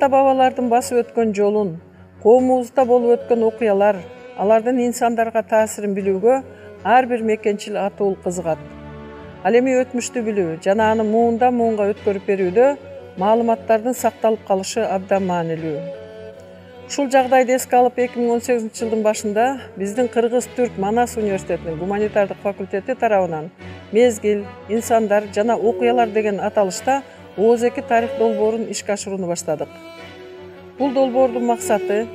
ата-бабалардын басып өткөн жолун, коомубузда болуп өткөн окуялар, алардын инсандарга таасирин билүүгө ар бир мекенчил атуул кызыгат. Ал эми өтмүштү билүү жана аны муундан муунга өткөрүп берүүдө маалыматтардын сакталып калышы абдан маанилүү. Ушул жагдайды эске алып 2018-жылдын башында биздин Кыргыз-Түрк Манас университетинин гуманитардык факультети тарабынан мезгил, инсандар жана окуялар деген аталышта ооз-2 тарых долбоорун ишке ашырууну баштадык. Бул долбоордун максаты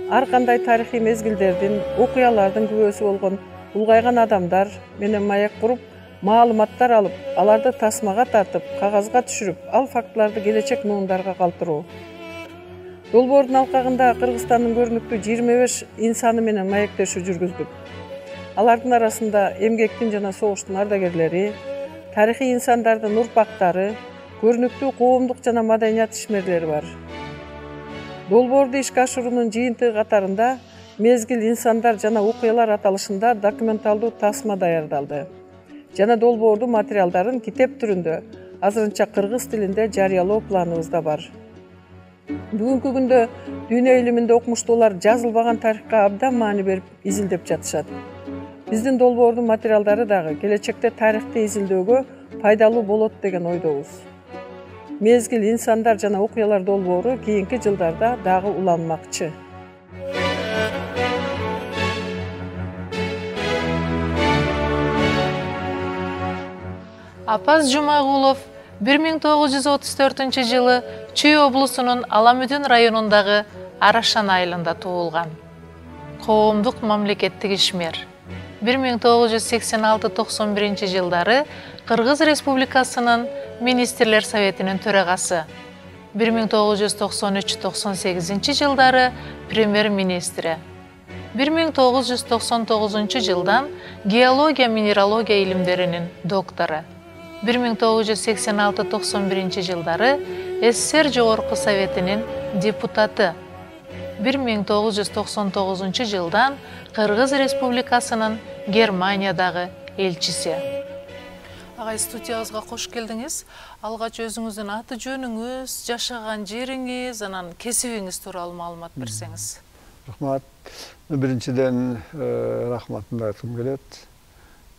ар кандай тарыхый мезгилдердин, окуялардын күбөсү болгон улгайган адамдар менен маек куруп, маалыматтар алып, аларды тасмага тартып, кагазга түшүрүп, ал фактыларды келечек муундарга калтыруу. Долбоордун алкагында Кыргызстандын көрүнүктүү 25 инсаны менен маектешүү жүргүздүк. Алардын арасында эмгектин жана согуштун ардагерлери, тарыхый инсандардын урпактары, көрүнүктүү коомдук жана маданият ишмерлери бар. Долбоорду ишке ашыруунун жыйынтыгы катарында мезгил, инсандар жана окуялар аталышында документалдуу тасма даярдалды жана долбоордун материалдарын китеп түрүндө азырынча кыргыз тилинде жарыялоо планыбызда бар. Бүгүнкү күндө дүйнө илиминде окумуштуулар жазылбаган тарыхка абдан маани берип изилдеп жатышат. Биздин долбоордун материалдары дагы келечекте тарыхты изилдөөгө пайдалуу болот деген ойдобуз. Мезгил, инсандар жана окуялар долбоору кийинки жылдарда дагы уланмакчы. Апаз Жумагулов 1934-жылы Чүй облусунун Аламүдүн районундагы Арашан айылында туулган. Коомдук мамлекеттик ишмер. 1986-91 жылдары Кыргыз Республикасынын Министрлер Советинин төрагасы. 1993-98 жылдары премьер-министри. 1999 жылдан геология минералогия илимдеринин доктору. 1986-91 жылдары СССР Жогорку Советинин депутаты. 1999 жылдан Кыргыз Республикасынын Германиядагы элчиси. Агай, студиябызга кош келдиңиз. Алгач өзүңүздүн аты жөнүңүз, жашаган жериңиз, анан кесибиңиз тууралуу маалымат берсеңиз. Рахмат. Биринчиден рахматымды айткым келет.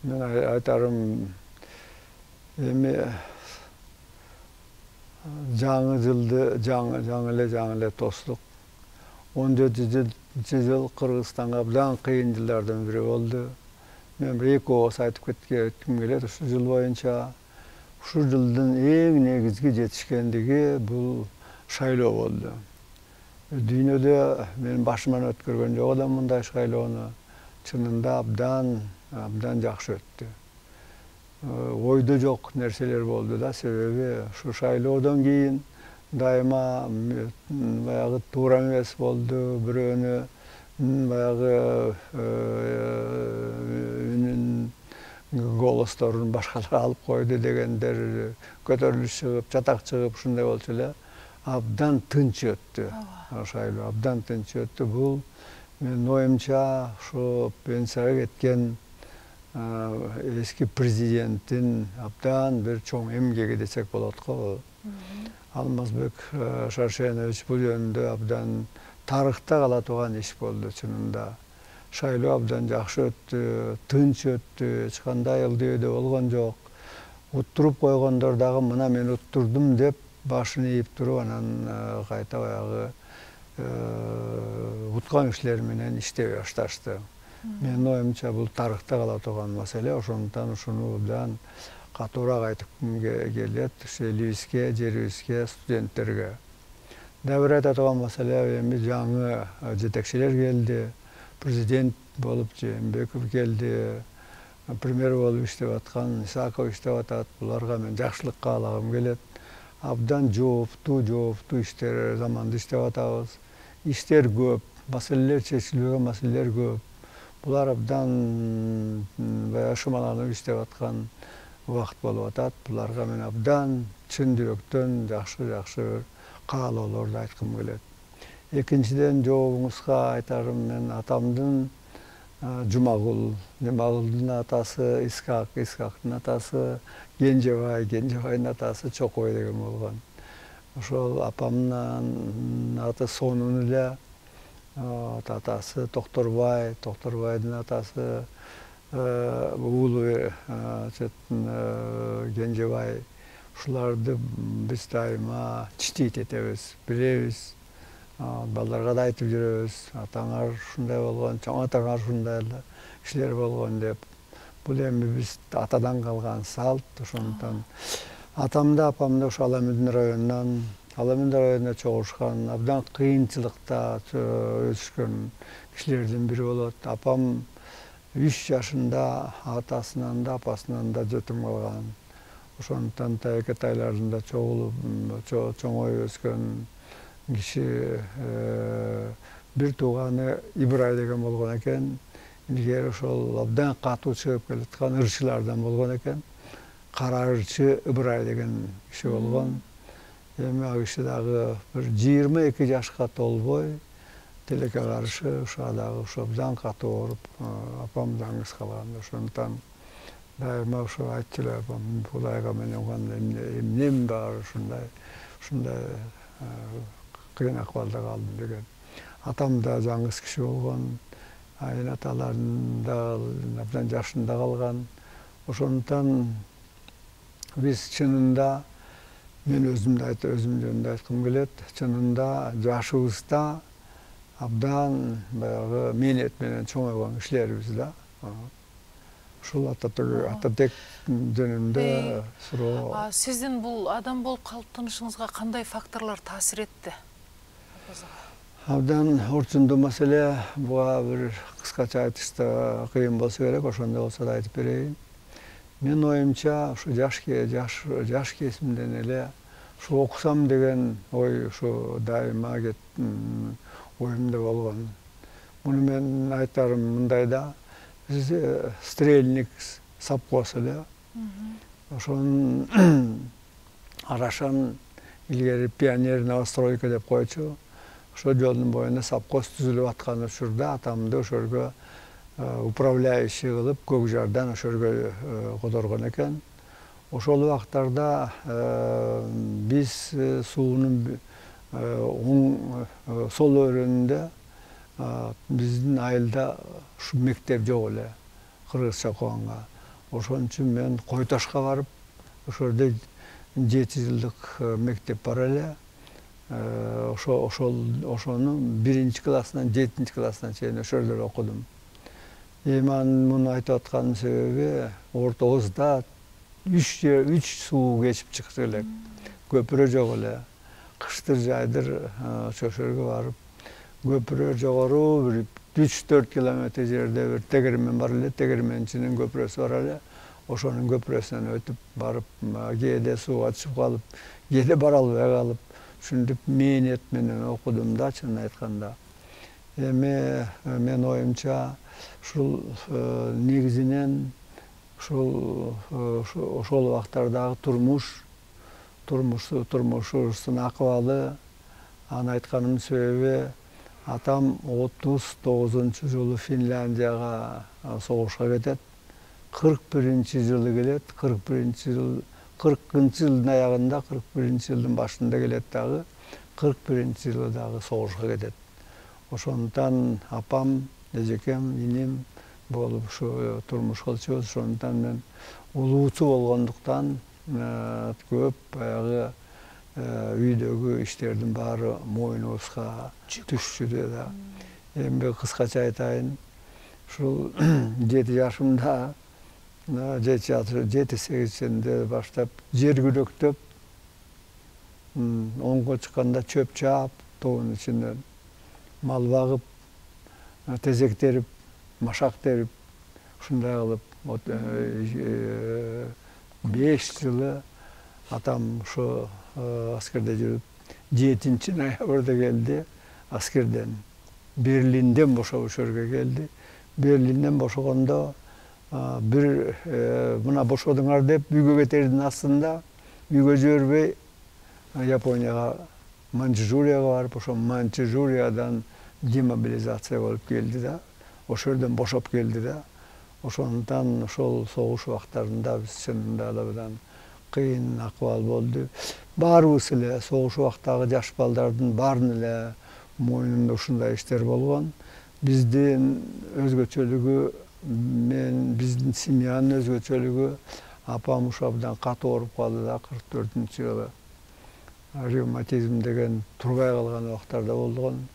Мен айтарым эми жаңы жылды жаңы эле тостук. 14-жыл Кыргызстанга абдан кыйын жылдардын бири болду. Мен бир-эки ооз айтып кетким келет. Ушул жыл боюнча ушул жылдын эң негизги жетишкендиги бул шайлоо болду. Дүйнөдө мен башыман өткөргөн жок элем мындай шайлоону. Чынында абдан жакшы өттү. Ойдо жок нерселер болду да, себеби ушу шайлоодон кийин дайыма баягы туура эмес болду, бирөөнү баягы үнүн голосторун башкалар алып койду дегендер көтөрүлүш чыгып, чатак чыгып ушундай болчу эле. Абдан тынч өттү. Шайлоо абдан тынч өттү. Бул менин оюмча ушу пенсияга кеткен эски президенттин абдан бир чоң эмгеги десек болот го. Алмазбек Шаршенович бул жөнүндө абдан тарыхта кала турган иш болду чынында. Шайлоо абдан жакшы өттү, тынч өттү, эч кандай ылдыйдөө болгон жок. Уттуруп койгондор дагы мына мен уттурдум деп башын ийип туруп, анан кайта баягы уткан кишилер менен иштей башташты. Менин оюмча бул тарыхта кала турган маселе, ошондуктан ушуну абдан катуураак айткым келет элибизге, жерибизге, студенттерге. Дагы бир айта турган маселе, эми жаңы жетекчилер келди. Президент болуп Жээнбеков келди. Премьер болуп иштеп аткан Исаков иштеп атат. Буларга мен жакшылык каалагым келет. Абдан жооптуу иштер заманда иштеп атабыз. Иштер көп, маселелер чечилбеген маселелер көп. Булар абдан баягы шымаланып иштеп аткан убакыт болуп атат. Буларга мен абдан чын жүрөктөн жакшы каалоолорду айткым келет. Экинчиден, жообуңузга айтарым, мен атамдын Жумагулдун атасы Искак, Искактын атасы Кенжебай, Кенжебайдын атасы Чокой деген болгон. ошол апамдын аты сонун эле, атасы Токторбайдын атасы уулу Кенжебай. Ушуларды биз дайыма читейт этебиз, билебиз. Балдарга да айтып жүрөбүз. Атаңар ушундай болгон, чоң атаңар ушундай эле кишилер болгон деп. Бул эми биз атадан калган салт. Ошондуктан атам да апам да ошо Ала Медин районунан, Ала Медин районунда чогулушкан, абдан кыйынчылыкта өсүшкөн кишилердин бири болот. Апам 3 жашында атасынан да апасынан да жетим калган. Ошондуктан Тайке тайларында чогулуп, чоңоюп өскөн киши. Бир тууганы Ибрай деген болгон экен. Илгери ошол абдан катуу чыгып келаткан ырчылардан болгон экен. Кара ырчы Ибрай деген киши болгон. Эми ал киши дагы бир 22 жашка толбой тилекке каршы ошо дагы ошо абдан катуу ооруп, апам жаңгыз калган. Ошондуктан дайыма ошо айтчу эле апам, бул айга мен эмнем бар ушундай кыйын акыбалда калдым деген. Атам да жаңгыз киши болгон. Айын аталарын да абдан жашында калган. Ошондуктан биз чынында, мен өзүм жөнүндө айткым келет, чынында жашыбызда абдан баягы мээнет менен чоңойгон кишилербиз да. Ушул Ататек жөнүндө суроо. Сиздин бул адам болуп калыптанышыңызга кандай факторлор таасир этти? Абдан орчундуу маселе. Буга бир кыскача айтышта кыйын болсо керек, ошондой болсо да айтып берейин. Мен оюмча ушу жаш кезимден эле ушу окусам деген ой ушу дайыма оюмда болгон. Муну мен айтарым мындай да, биз стрельник совхоз эле. Ошонун арашан илгери пионер новостройка деп койчу. Ошол жолдун боюнда совхоз түзүлүп аткан учурда атамды ошолго управляющий кылып Көкжардан ошолго которгон экен. Ошол убактарда биз суунун оң сол өрүнүндө биздин айылда ушу мектеп жок эле, кыргызча окуганга. Ошон үчүн мен Кой Ташка барып, ошолдо 7 жылдык мектеп бар эле. Ошону 1-классынан 7-классына чейин ошол жерде окудум. Эми муну айтып атканымдын себеби ортобузда 3 суу кечип чыкты элек. Көпүрө жок эле. Кыштыр жайдыр ошол жерге барып, көпүрө жогору бир 3-4 километр жерде бир тегермен бар эле, тегерменчинин көпүрөсү бар эле. Ошонун көпүрөсүнөн өтүп барып, кээде сууга түшүп калып, кээде бара албай калып, ушинтип мээнет менен окудум да, чынын айтканда. Эми мен оюмча ушул негизинен ошол убактардагы турмушубуздун акыбалы, аны айтканымдын себеби атам 39-жылы Финляндияга согушка кетет. 41-жылы келет, 40-жылдын аягында, 41-жылдын башында келет дагы, 41-жылы дагы согушка кетет. Ошондуктан апам, эжекем, иним болуп ушу турмуш кылчубуз. Ошондуктан мен улуучу болгондуктан көп баягы үйдөгү иштердин баары мойнубузга түшчү да. Эми кыскача айтайын, ушул 7 жашымда, 7-8 баштап жер күрөктөп, оңго чыкканда чөп чаап, тоонун ичинен мал багып, тезек терип, машак терип, ушундай кылып 5 жылы атам ошо аскерде жүрүп, 7-ноябрда келди аскерден. Берлинден бошоп ошол жерге келди. Берлинден бошогондо бир мына бошодуңар деп үйгө кетердин астында үйгө жибербей Японияга, Манчжурияга барып, ошо Манчжуриядан демобилизация болуп келди да. Ошол жерден бошоп келди да. Ошондуктан ошол согуш убактарында биз чынында эле абдан кыйын акыбал болду. Баарыбыз эле согуш убактагы жаш балдардын баарынын эле мойнунда ушундай иштер болгон. Биздин өзгөчөлүгү, биздин семьянын өзгөчөлүгү, апам ушу абдан катуу ооруп калды да 44-жылы. Ревматизм деген турбай калган убактарда болгон.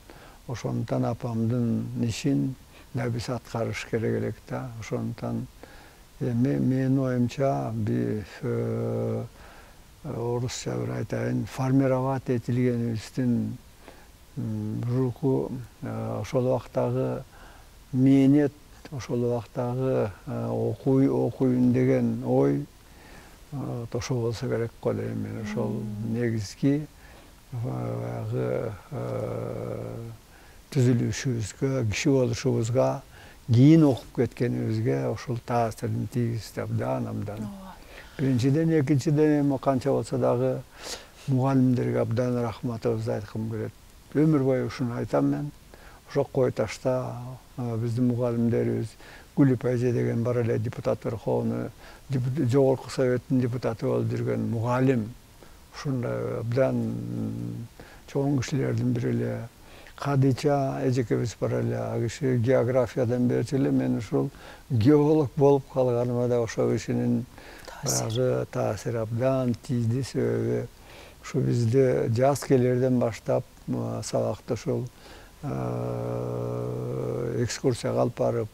Ошондуктан апамдын ишин да биз аткарыш керек элек да. Ошондуктан менин оюмча орусча бир айтайын, формировать этилгенибиздин руху ошол убактагы мээнет, ошол убактагы окуйюн деген ой ошо болсо керек го дейм мен. Ошол негизги баягы түзүлүшүбүзгө, киши болушубузга, кийин окуп кеткенибизге ошол таасирин тийгизди абдан. Биринчиден, экинчиден эми канча болсо дагы мугалимдерге абдан рахматыбызды айткым келет. Өмүр бою ушуну айтам мен. Ошо Кой Ташта биздин мугалимдерибиз Гүлүп эже деген бар эле депутат Верховный, жогорку советтин депутаты болуп жүргөн мугалим. Ушундай абдан чоң кишилердин бири эле. Кадыйча эжекебиз бар эле, ал киши географиядан берчү эле, мен ушул геолог болуп калганыма да ошол кишинин баягы таасири абдан тийди. Себеби ушу бизде жаз келерден баштап сабакта ушул экскурсияга алып барып,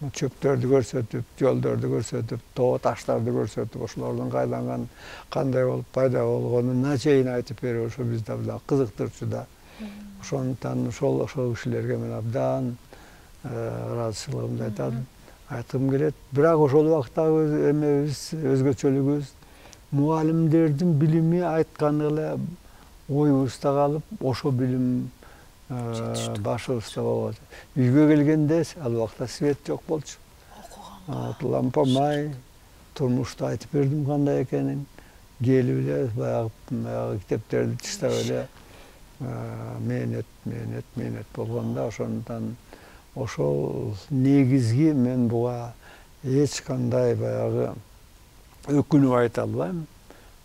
чөптөрдү көрсөтүп, жолдорду көрсөтүп, тоо таштарды көрсөтүп, ошолордун кайдан кандай болуп пайда болгонуна чейин айтып берип, ошо бизди абдан кызыктырчу да. Ошондуктан ошол кишилерге мен абдан ыраазычылыгымды айткым келет. Бирок ошол убактагы эмебиз, өзгөчөлүгүбүз мугалимдердин билими айтканы эле оюбузда калып, ошо билим башыбызда болот. Үйгө келгенде ал убакта свет жок болчу. Лампа май, турмушту айтып бердим кандай экенин. Келип эле баягы китептерди чыштап эле мээнет болгон да. Ошондуктан ошол негизги мен буга эч кандай баягы өкүнүп айта албайм.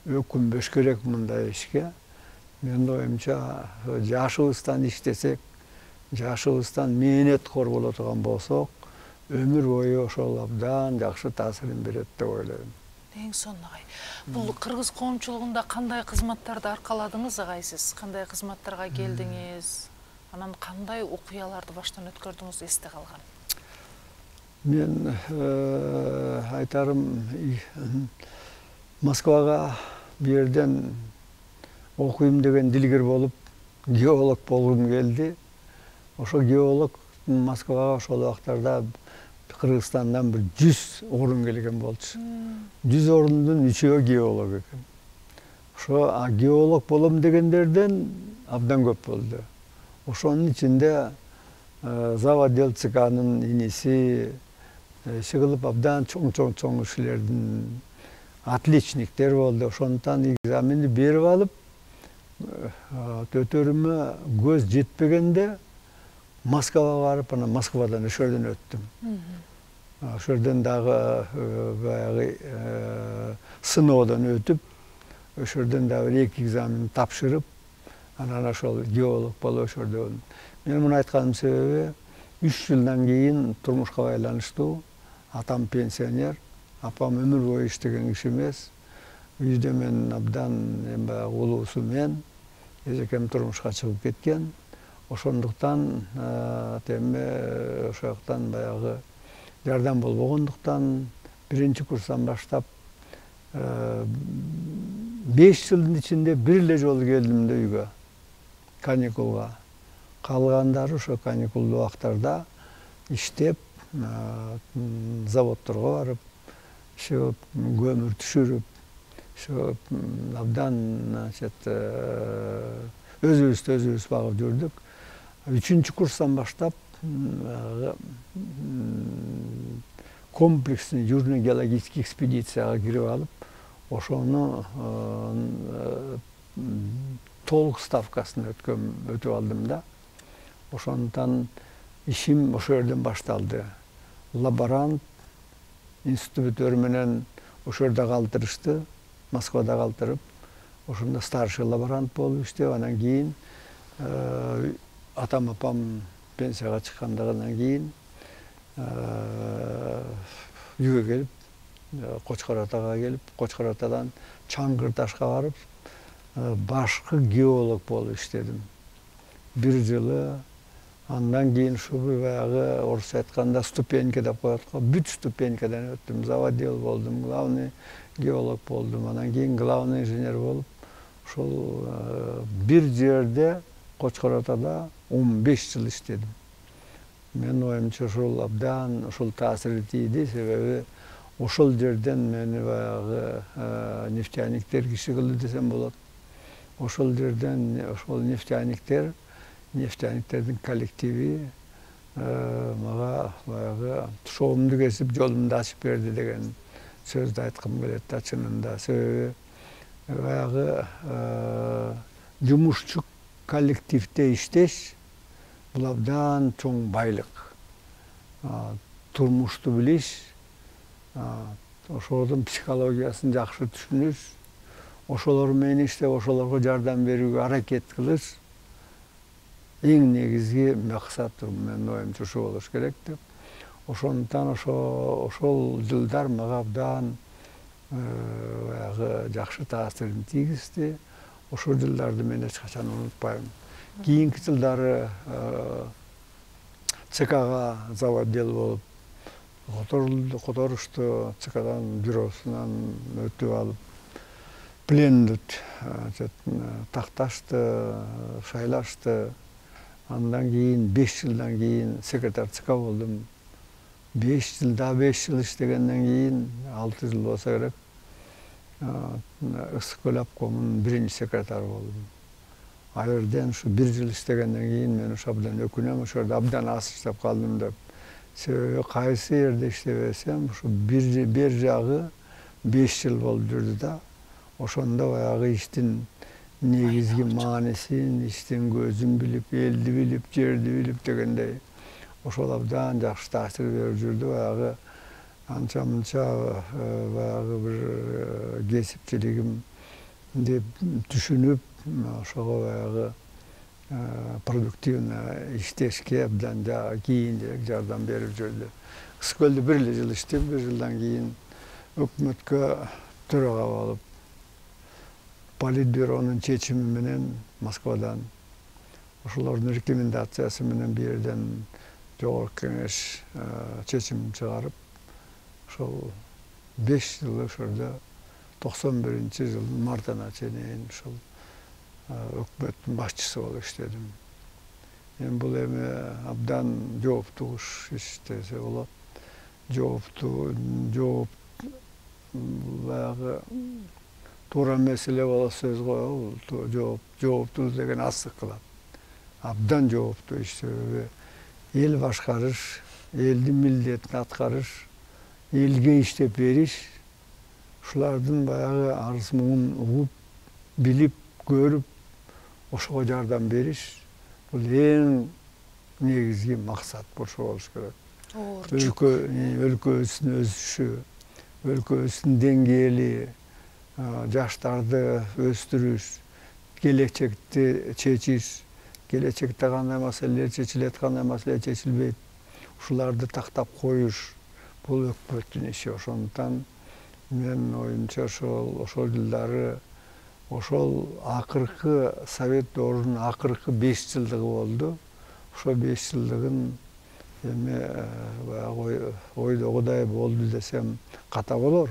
Өкүнбөш керек мындай ишке. Менин оюмча жашыбыздан иштесек, жашыбыздан мээнеткор боло турган болсок, өмүр бою ошол абдан жакшы таасирин берет деп ойлойм. Эң сонун агай. Бул кыргыз коомчулугунда кандай кызматтарды аркаладыңыз агай сиз? Кандай кызматтарга келдиңиз? Анан кандай окуяларды баштан өткөрдүңүз эсте калган? Мен айтарым, Москвага бу жерден окуйм деген дилгир болуп, геолог болгум келди. Ошо геолог Москвага ошол убактарда Кыргызстандан бир 100 орун келген болчу. 100 орундун 3-өө геолог экен. Ошо геолог болом дегендерден абдан көп болду. Ошонун ичинде Заводил ЦКнын иниси чыгылып абдан чоң кишилердин отличниктер болду. Ошондуктан экзаменди берип алып, төтөрүмө көз жетпегенде Москвага барып, анан Москвадан ошодон өттүм. Ошодон дагы баягы сыноодон өтүп, ошодон дагы 2 экзамен тапшырып, анан ошол геолог болуп ошодон. Мен муну айтканымдын себеби 3 жылдан кийин турмушка байланыштуу. Атам пенсионер, апам өмүр бою иштеген киши эмес. Үйдө мен абдан баягы улуусу мен, эжекем турмушка чыгып кеткен. Ошондуктан теме ошол жактан баягы жардам болбогондуктан 1-курстан баштап 5 жылдын ичинде бир эле жолу келдим да үйгө, каникулга. Калгандары ошо каникулдуу убактарда иштеп, заводдорго барып, ошо көмүр түшүрүп, ошо абдан өзүбүз багып жүрдүк. 3-курстан баштап комплексный южно-геологический экспедицияга кирип алып, ошону толук ставкасын өтүп алдым да. Ошондуктан ишим ошол жерден башталды. Лаборант институттөр менен ошол жерде калтырышты. Москвада калтырып, ошондо старший лаборант болуп иштеп, анан кийин атам апам пенсияга чыккандан кийин үйгө келип, Кочкор Атага келип, Кочкор Атадан Чаңгыр Ташка барып, башкы геолог болуп иштедим. 1 жылы. Андан кийин ушу баягы орусча айтканда ступенька деп коет го. Бүт ступенькадан өттүм. Заводил болдум, главный геолог болдум. Анан кийин главный инженер болуп, ушул бир жерде Кочкор Атада 15 жыл иштедим. Менин оюмча ушул абдан ушул таасири тийди, себеби ошол жерден мени баягы нефтяниктер киши кылды десем болот. Ошол жерден ошол нефтяниктердин коллективи мага баягы тушоомду кесип, жолумду ачып берди деген сөздү айткым келет да, чынында. Себеби баягы жумушчу коллективде иштеш бул абдан чоң байлык. Турмушту билиш, ошолордун психологиясын жакшы түшүнүш, ошолор менен иштеп, ошолорго жардам берүүгө аракет кылыш эң негизги максат менин оюмча ушу болуш керек деп. Ошондуктан ошол жылдар мага абдан баягы жакшы таасирин тийгизди. Ошол жылдарды мен эч качан унутпайм. Кийинки жылдары ЦКга заводдел болуп которушту, ЦКдан бюросунан өтүп алып, пленду такташты, шайлашты. Андан кийин 5 жылдан кийин секретарь ЦК болдум. 5 жыл иштегенден кийин 6 жыл болсо керек, Ысык-Көл обкомунун 1-секретары болдум. Ал жерден ушу 1 жыл иштегенден кийин мен ушу абдан өкүнөм, ошол жерде абдан аз иштеп калдым деп. Себеби кайсы жерде иштебесем, ушу бир жагы 5 жыл болуп жүрдү да. Ошондо баягы иштин негизги маанисин, иштин көзүн билип, элди билип, жерди билип дегендей, ошол абдан жакшы таасир берип жүрдү. Баягы анча-мынча баягы бир кесипчилигим деп түшүнүп, ошого баягы продуктивно иштешке абдан кийинирээк жардам берип жүрдү. Ысык-Көлдө 1 жыл иштеп, 1 жылдан кийин өкмөткө төрага болуп, Политбюронун чечими менен Москвадан, ошолордун рекомендациясы менен бир жерден жогорку кеңеш чечим чыгарып, ошол 5 жыл ошолдо 91-жылдын мартына чейин ошол өкмөттүн башчысы болуп иштедим. Бул эми абдан жооптуу иш десе болот. Жооп баягы туура меселе боло сөз го, жооптуу деген асык кылат. Абдан жооптуу иш, себеби эл башкарыш, элдин милдетин аткарыш, элге иштеп бериш, ушулардын баягы арыз муңун угуп, билип, көрүп, ошого жардам бериш, бул эң негизги максат болуш керек. Өлкөбүздүн өсүшү, өлкөбүздүн деңгээли, жаштарды өстүрүш, келечекти чечиш, келечекте кандай маселелер чечилет, кандай маселе чечилбейт, ушуларды тактап коюш, бул өкмөттүн иши. Ошондуктан менин оюмча ошол жылдары, ошол акыркы Совет доорунун акыркы 5 жылдыгы болду. Ошол 5 жылдыгын эми баягы ойдогудай болду десем ката болор.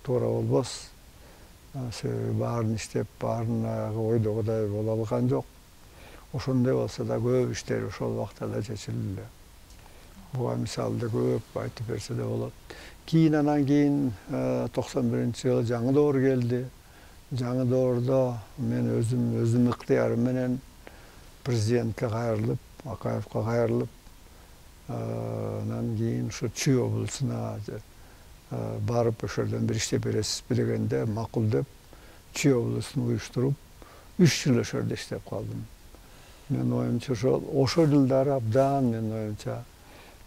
Туура болбос. Себеби баарын иштеп, баарын ойдогудай боло алган жок. Ошондой болсо да көп иштер ошол убактарда чечилди. Буга мисалды көп айтып берсе да болот. Анан кийин 91-жылы жаңы доор келди. Жаңы доордо мен өзүм ыктыярым менен президентке кайрылып, Акаевке кайрылып, анан кийин ушу Чүй облусуна барып ошолдон бир иштеп бересизби дегенде макул деп Чүй облусун уюштуруп 3 жыл ошол жерде иштеп калдым. Менин оюмча ошол жылдары абдан менин оюмча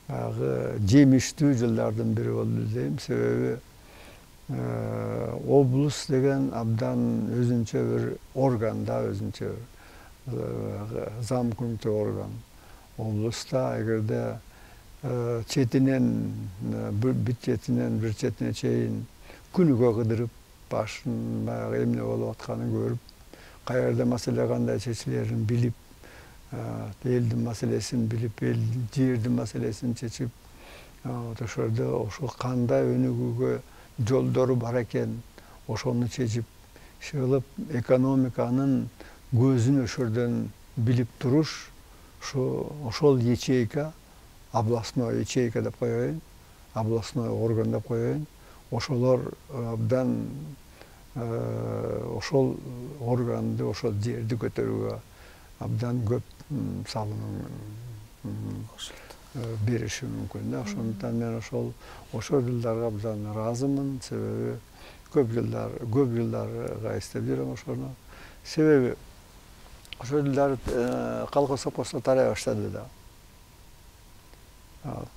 баягы жемиштүү жылдардын бири болду дейм. Себеби облус деген абдан өзүнчө бир орган да, өзүнчө замкнутый орган. Облуста эгерде четинен бир четинен бир четине чейин күнүгө кыдырып, башын баягы эмне болуп атканын көрүп, каерде маселе кандай чечилерин билип, элдин маселесин билип, жердин маселесин чечип, ошолордо ошол кандай өнүгүүгө жолдору бар экен, ошону чечип чыгып, экономиканын көзүн ошолордон билип туруш, ошол ячейка, областной ячейка деп коеюн, областной орган деп коеюн, ошолор абдан ошол органды, ошол жерди көтөрүүгө абдан көп салым бериши мүмкүн да. Ошондуктан мен ошол жылдарга абдан ыраазымын, себеби көп жылдарга иштеп жүрөм ошону. Себеби ошол жылдары колхоз совхозго тарай баштады да.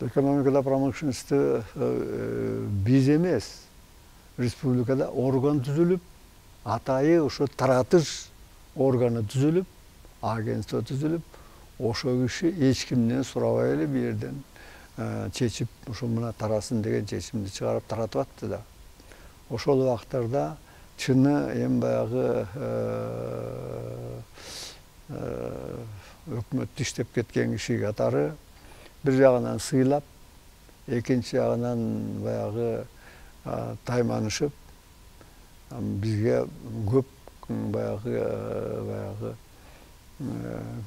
Экономикада, промышленностьта биз эмес, республикада орган түзүлүп, атайы ошо таратыш органы түзүлүп, агентство түзүлүп, ошо киши эч кимден сурабай эле бул жерден чечип, ошо мына тарасын деген чечимди чыгарып таратып атты да. Ошол убактарда чыны эми баягы өкмөттө иштеп кеткен киши катары бир жагынан сыйлап, экинчи жагынан баягы тайманышып, бизге көп баягы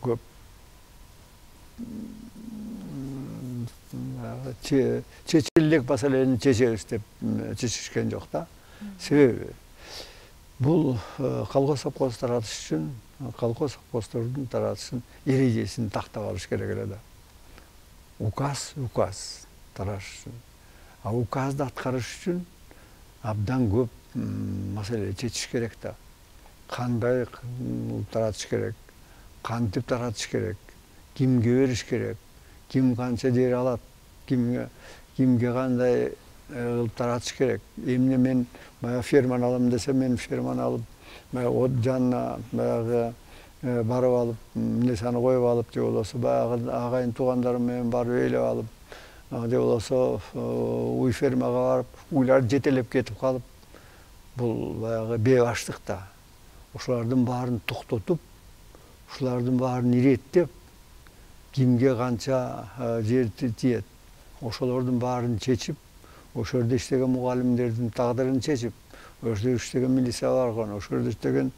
көп чечиле элек маселени чечебиз деп чечишкен жок да. Себеби бул колхоз совхоз таратыш үчүн колхоз совхоздордун таратышын эрежесин тактап алыш керек эле да. Указ таратыш үчүн. А указды аткарыш үчүн абдан көп маселе чечиш керек да. Кандай таратыш керек, кантип таратыш керек, кимге бериш керек, ким канча жер алат, кимге кандай кылып таратыш керек. Эмне мен баягы ферманы алам десем, мен ферманы алып, баягы жанына баягы барып алып, несаны коюп алып, же болбосо баягы агайын туугандарым менен барып ээлеп алып, же болбосо уй фермага барып, уйлар жетелеп кетип калып, бул баягы бейбаштык да. Ошолордун баарын токтотуп, ошолордун баарын иреттеп, кимге канча жер тиет, ошолордун баарын чечип, ошол жерде иштеген мугалимдердин тагдырын чечип, ошол жерде иштеген милиция барган, ошол жерде иштеген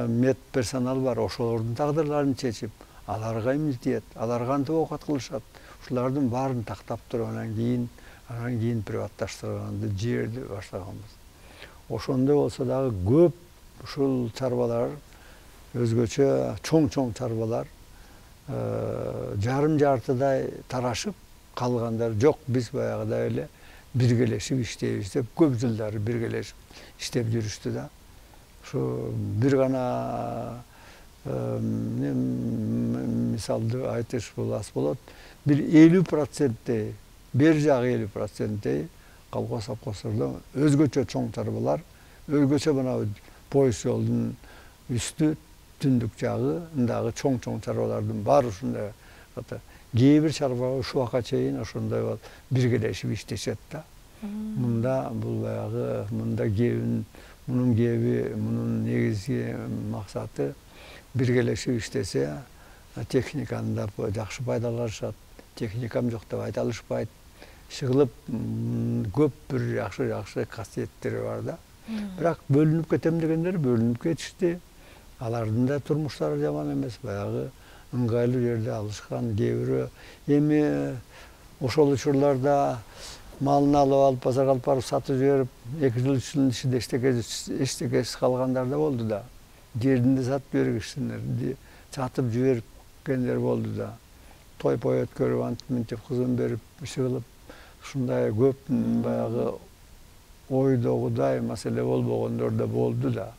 мед персонал бар, ошолордун тагдырларын чечип, аларга эмне тиет, алар кантип оокат кылышат, ушулардын баарын тактап туруп, анан кийин приватташтырганды, жерди баштаганбыз. Ошондой болсо дагы көп ушул чарбалар, өзгөчө чоң чарбалар жарым-жартыдай тарашып, калгандар жок, биз баягыдай эле биргелешип иштейбиз деп көп жылдары биргелешип иштеп жүрүштү да. Ушу бир гана мисалды айтыш аз болот. Бир 50%, бер жагы 50% колхоз совхоздордо өзгөчө чоң чарбалар, өзгөчө мына поезд жолдун үстү, түндүк жагындагы чоң чарбалардын баары ушундай. Кээ бир чарба ушуга чейин ошондой биргелешип иштешет да. Мында бул баягы мында мунун кеби, мунун негизги максаты биргелешип иштесе, техниканы да жакшы пайдаланышат. Техникам жок деп айта алышпайт. Чыгылып көп бир жакшы касиеттери бар да. Бирок бөлүнүп кетем дегендер бөлүнүп кетишти. Алардын да турмуштары жаман эмес, баягы ыңгайлуу жерде алышкан. Кээ бирөө эми ошол учурларда малын алып базарга алып барып сатып жиберип, 2 жыл 3 жылдын ичинде эчтекеси калгандар да болду да. Жерин да сатып бергенер, сатып жибергендер болду да. Той-пой өткөрүп, антип кызын берип, чыгылып, ушундай көп баягы ойдогудай маселе болбогондор да болду да.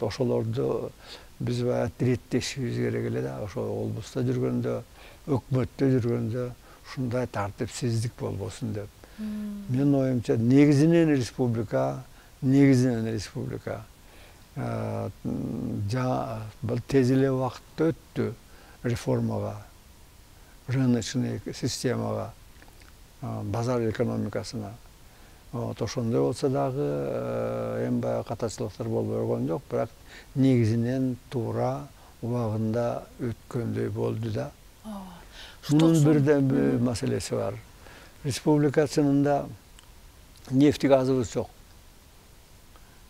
Ошолорду биз баягы иреттешибиз керек эле да. Ошо облуста жүргөндө, өкмөттө жүргөндө ушундай тартипсиздик болбосун деп. Менин оюмча негизинен республика бул тез эле убакытта өттү реформага, рыночный системага, базар экономикасына. Ошондой болсо дагы эми баягы катачылыктар болбой койгон жок, бирок негизинен туура убагында өткөндөй болду да. Мунун бир маселеси бар. Республика чынында нефти газыбыз жок.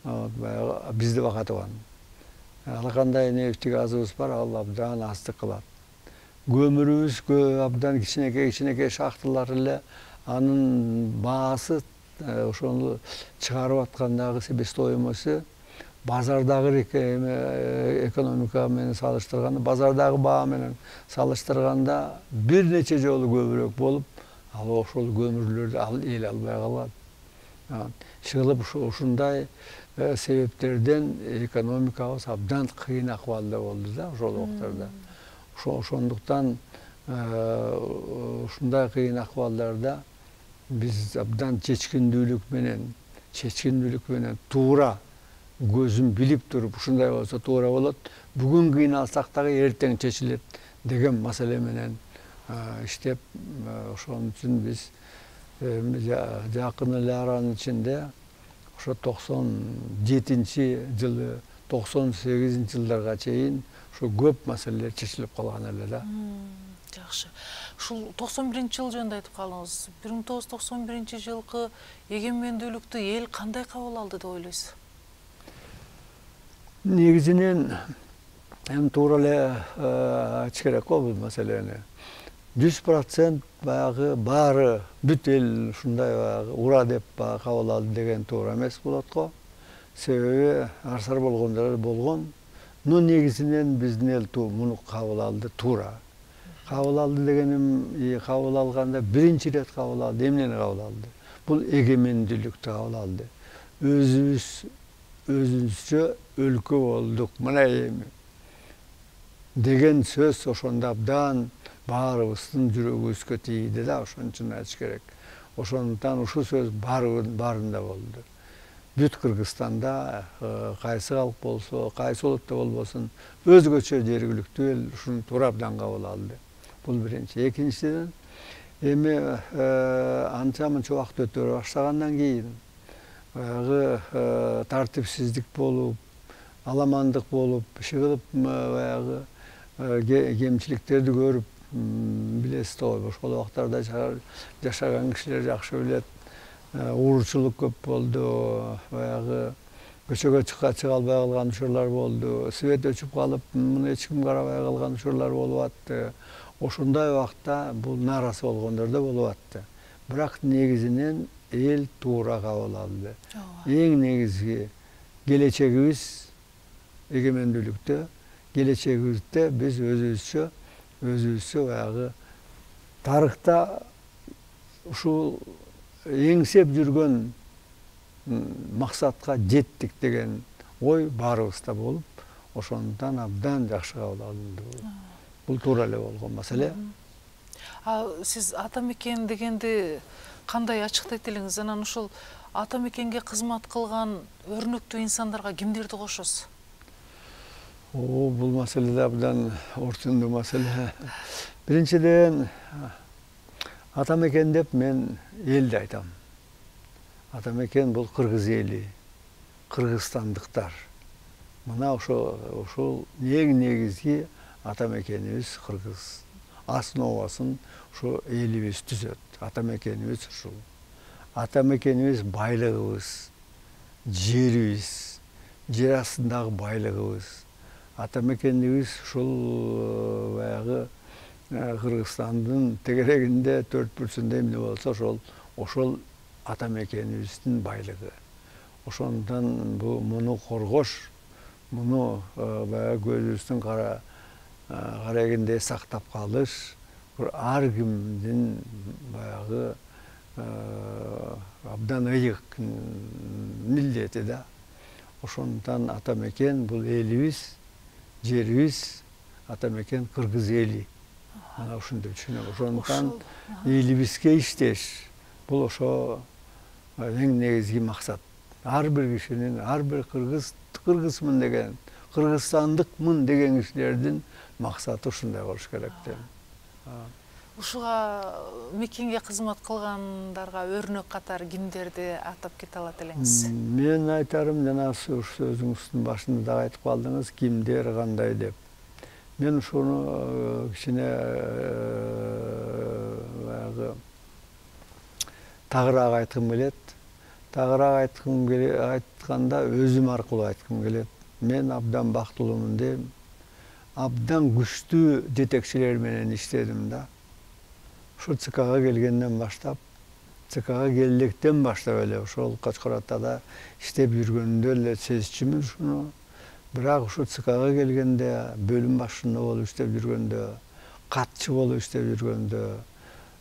Баягы бизди бака турган. Ар кандай нефти газыбыз бар, ал абдан аздык кылат. Көмүрүбүз абдан кичинекей шахталар эле, анын баасы ошону чыгарып аткандагы себестоимосу базардагы экономика менен салыштырганда, базардагы баа менен салыштырганда бир нече жолу көбүрөөк болуп, ал ошол көмүрлөрдү эл албай калат. Чыгылып ушундай себептерден экономикабыз абдан кыйын акыбалда болду да ошол убактарда. Ошондуктан ушундай кыйын акыбалдарда биз абдан чечкиндүүлүк менен туура көзүн билип туруп, ушундай болсо туура болот, бүгүн кыйналсак дагы эртең чечилет деген маселе менен иштеп, ошон үчүн биз жакын эле аранын ичинде ошо 97-жылы, 98-жылдарга чейин ушу көп маселелер чечилип калган эле да. Жакшы. Ушул 91-жыл жөнүндө айтып калдыңыз. 1991-жылкы эгемендүүлүктү эл кандай кабыл алды деп ойлойсуз? Негизинен эми туура эле айтыш керек го бул маселени. 100% баягы баары бүт эл ушундай баягы ура деп кабыл алды деген туура эмес болот го. Себеби арсар болгондор болгон. Но негизинен биздин эл муну кабыл алды туура. Кабыл алды дегеним, кабыл алганда биринчи ирет кабыл алды. Эмнени кабыл алды? Бул эгемендүүлүктү кабыл алды. Өзүбүзчө өлкө болдук, мына эми деген сөз ошондо абдан баарыбыздын жүрөгүбүзгө тийди да, ошон үчүн айтыш керек. Ошондуктан ушул сөз баарында болду. Бүт Кыргызстанда кайсы калк болсо, кайсы улутта болбосун, өзгөчө жергиликтүү эл ушуну туура абдан кабыл алды. Бул биринчи. Экинчиден, эми анча-мынча убакыт өтө баштагандан кийин баягы тартипсиздик болуп, аламандык болуп, чыгылып баягы кемчиликтерди көрүп, билесиз го, ошол убактарда жашаган кишилер жакшы билет. Уурчулук көп болду, баягы көчөгө чыга албай калган учурлар болду, свет өчүп калып, муну эч ким карабай калган учурлар болуп атты. Ошондой убакта бул нааразы болгондор да болуп атты. Бирок негизинен эл туура кабыл алды. Эң негизги келечегибиз эгемендүүлүктө, келечегибизде биз өзүбүзчө баягы тарыхта ушул эңсеп жүргөн максатка жеттик деген ой баарыбызда болуп, ошондуктан абдан жакшы кабыл алынды. Бул туура эле болгон маселе. Сиз ата мекен дегенди кандай ачыктайт элеңиз? Анан ушул ата мекенге кызмат кылган өрнөктүү инсандарга кимдерди кошосуз? Бул маселе абдан орчундуу маселе. Биринчиден, ата мекен деп мен элди айтам. Ата мекен бул кыргыз эли, кыргызстандыктар. Мына ошол эң негизги ата мекенибиз кыргыз. Основасын ушу элибиз түзөт. Ата мекенибиз ушул. Ата мекенибиз байлыгыбыз, жерибиз, жер астындагы байлыгыбыз. Ата мекенибиз ушул баягы Кыргызстандын тегерегинде 4% эмне болсо, ошол ата мекенибиздин байлыгы. Ошондон муну коргош, муну баягы көзүбүздүн карегинде сактап калыш ар кимдин баягы абдан ыйык милдети да. Ошондуктан ата мекен бул элибиз, жерибиз, ата мекен кыргыз эли. Ана ушинтип түшүнөм. Ошондуктан элибизге иштеш, бул ошо эң негизги максат. Ар бир кишинин, ар бир кыргызмын деген, кыргызстандыкмын деген кишилердин максаты ушундай болуш керек дейм. Ушуга мекенге кызмат кылгандарга өрнөк катары кимдерди атап кете алат элеңиз? Мен айтарым, жана сөзүңүздүн башында да айтып калдыңыз, кимдер кандай деп. Мен ушуну кичине баягы тагыраак айткым келет. Тагыраак айтканда өзүм аркылуу айткым келет. Мен абдан бактылуумун дейм. Абдан күчтүү жетекчилер менен иштедим да. Ушул ЦКга келгенден баштап, ЦКга келдиктен баштап эле ошол Кочкор Атада иштеп жүргөндө эле сезчүмүн ушуну. Бирок ушул ЦКга келгенде, бөлүм башчысында болуп иштеп жүргөндө, катчы болуп иштеп жүргөндө,